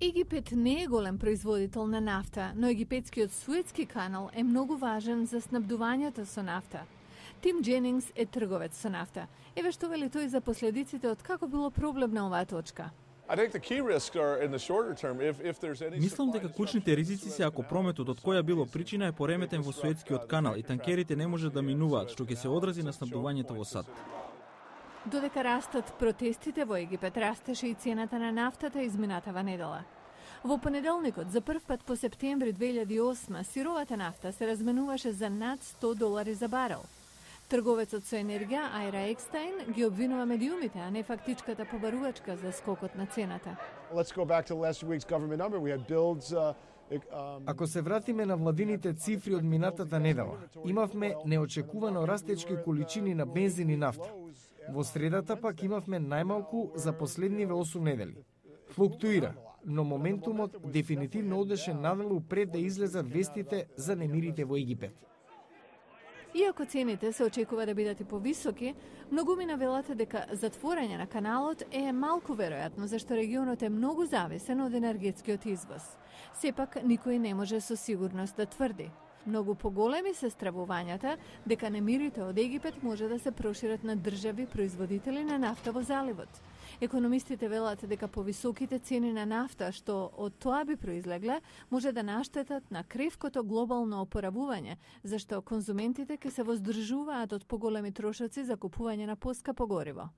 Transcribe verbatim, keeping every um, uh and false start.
Египет не е голем производител на нафта, но египетскиот Суетски канал е многу важен за снабдувањето со нафта. Тим Дженингс е трговец со нафта. Еве што вели тој за последиците од како било проблем на оваа точка. Мислам дека клучните ризици се ако прометот од која било причина е пореметен во Суетскиот канал и танкерите не може да минуваат, што ќе се одрази на снабдувањето во САД. Додека растат протестите во Египет, растеше и цената на нафтата изминатава недела. Во понеделникот, за прв пат по септември две илјади и осма, сировата нафта се разменуваше за над сто долари за барел. Трговецот со енергија Ајра Екстајн ги обвинува медиумите, а не фактичката побарувачка за скокот на цената. Ако се вратиме на владините цифри од минатата недела, имавме неочекувано растечки количини на бензин и нафта. Во средата пак имавме најмалку за последниве осум недели. Флуктуира, но моментумот дефинитивно одеше надолу пред да излезат вестите за немирите во Египет. Иако цените се очекува да бидат и повисоки, многумина велат дека затворање на каналот е малку веројатно, зашто регионот е многу зависен од енергетскиот извоз. Сепак, никој не може со сигурност да тврди. Многу поголеми се стравувањата дека немирите од Египет може да се прошират на држави производители на нафта во заливот. Економистите велат дека повисоките цени на нафта што од тоа би произлегле може да наштетат на кревкото глобално опоравување, зашто конзументите ќе се воздржуваат од поголеми трошоци за купување на поскапо гориво.